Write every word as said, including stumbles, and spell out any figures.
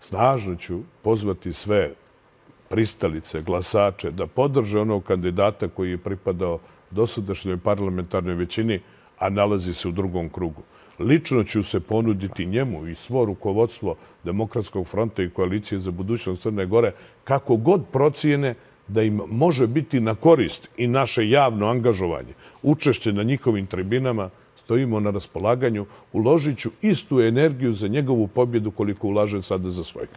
snažno ću pozvati sve pristalice, glasače, da podrže onog kandidata koji je pripadao dosadašnjoj parlamentarnoj većini, a nalazi se u drugom krugu. Lično ću se ponuditi njemu i svo rukovodstvo Demokratskog fronta i Koalicije za budućnost Crne Gore, kako god procijene da im može biti na korist i naše javno angažovanje, učešće na njihovim tribinama, stojimo na raspolaganju, uložit ću istu energiju za njegovu pobjedu koliko ulažem sada za svoju.